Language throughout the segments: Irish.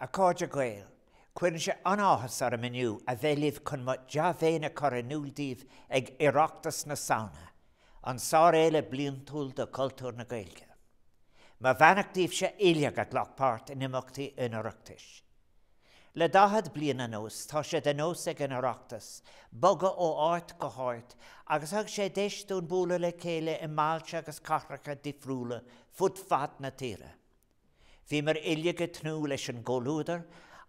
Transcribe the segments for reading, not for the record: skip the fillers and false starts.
A chairde Gael, cuireann sé an-áthas orm inniu a bheith libh chun mo dea-mhéin a chur in iúl daoibh ag Oireachtas na Samhna, an sárfhéile bliantúil do chultúr na Gaeilge. Mo bheannacht daoibhse uilig a ghlac páirt in imeachtaí an Oireachtais. Le 40 bliain anuas, tá sé de nós ag an Oireachtas bogadh ó áit go háit agus thug sé deis dúinn bualadh le chéile i mbailte agus cathracha difriúla fud fad na tíre. Bhíomar uilig ag tnúth leis an gcomhluadar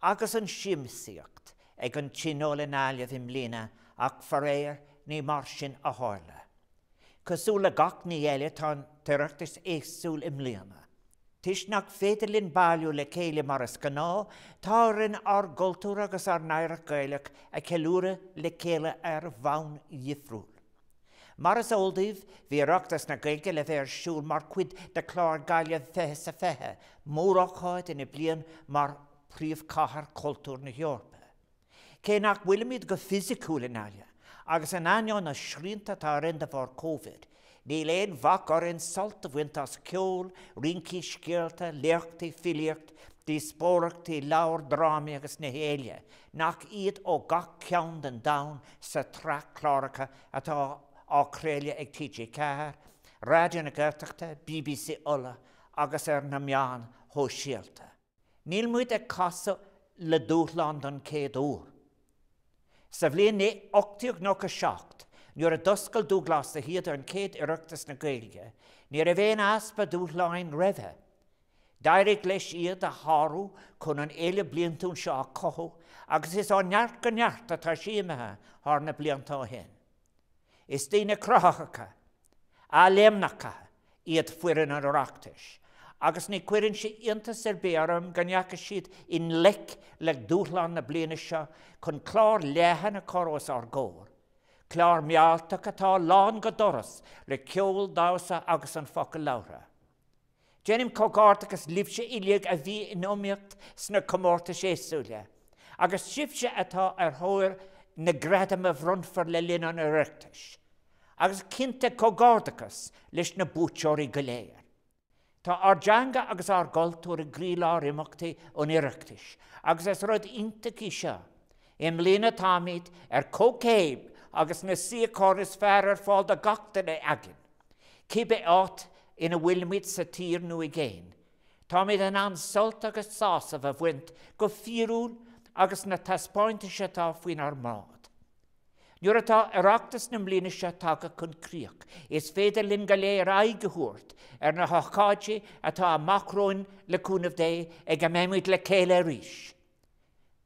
agus an siamsaíocht ag an Tionól i nGaillimh i mbliana ach faraor ní mar sin a tharla. Cosúil le gach ní eile tá an tOireachtas éagsúil i mbliana. Toisc nach féidir linn bailiú le chéile mar is gnáth, tá orainn ár gcultúr agus ár n-oidhreacht Ghaelach a cheiliúradh le chéile ar bhonn dhifriúil. Mar is eol daoibh, bhí Oireachtas na Gaeilge le bheith ar siúl mar chuid de chlár Gaillimh 20 is 20, mórócáid ina bliain mar Phríomhchathair Chultúir na hEorpa. Cé nach bhfuilimid go fisiciúil i nGaillimh, agus in ainneoin na srianta atá orainn de bharr Covid, níl aon bhac orainn sult a bhaint as ceol, rincí, scéalta, léachtaí, filíocht, díospóireachtaí, leabhair, drámaí agus nithe eile nach iad ó gach cearn den domhan sa tsraith cláracha atá á craoladh ag TG4, Raidió na Gaeltachta, bbc Uladh agus ar na meáin shóisialta. Níl muid ag casadh le dúshlán don chéad uair. Sa bhliain 1897, nuair a d'oscail Dúghlás de hÍde an chéad Oireachtas na Gaeilge, ní raibh aon easpa dúshláin roimhe. D'éirigh leis iad a shárú chun an fhéile bliantúil seo a chothú agus is ó neart go neart atá sí imithe thar na blianta ó shin. Is daoine cruthaitheacha, athléimneacha iad foireann an Oireachtais agus ní chuireann sé iontas ar bith orm go ndeachaigh siad i ngleic le dúshlán na bliana seo chun clár leathan a chur os ár gcomhair, clár mealltach atá lán go doras le ceol, damhsa agus an focal labhartha. Déanaim comhghairdeachas libhse uilig a bhí in iomaíocht sna comórtais éagsúla, agus sibhse atá ar thóir na gradam a bhronnfar le linn an Oireachtais, agus cinnte comhghairdeachas leis na buaiteoirí go léir. Tá ár dteanga agus ár gcultúr i gcroílár imeachtaí an Oireachtais, agus is rud iontach í seo. I mbliana táimid ar comhchéim agus na suíocháin is fearr ar fáil do gach duine againn. Cibé áit ina bhfuilimid sa tír nó i gcéin, táimid in ann sult agus sásamh a bhaint go fíorúil as na taispeántais atá faoinár mbráid. Nuair atá Oireachtas na mbliana seo tagtha chun críoch, is féidir linn go léir aghaidh a thabhairt ar na hócáidí atá amach romhainn le cúnamh Dé ag a mbeimid le chéile arís.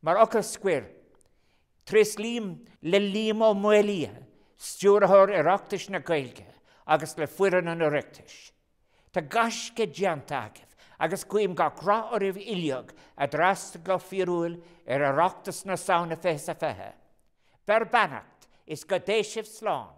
Mar fhocal scoir, Tréaslaím le Liam Ó Maolaodha, Stiúrthóir Oireachtais na Gaeilge, agus le foireann an Oireachtais. Tá gaisce déanta agaibh agus guím gach rath oraibh uilig a d'fhreastail go fíorúil ar Oireachtas na Samhna 20 is 20. Beir beannacht is go dté sibh slán.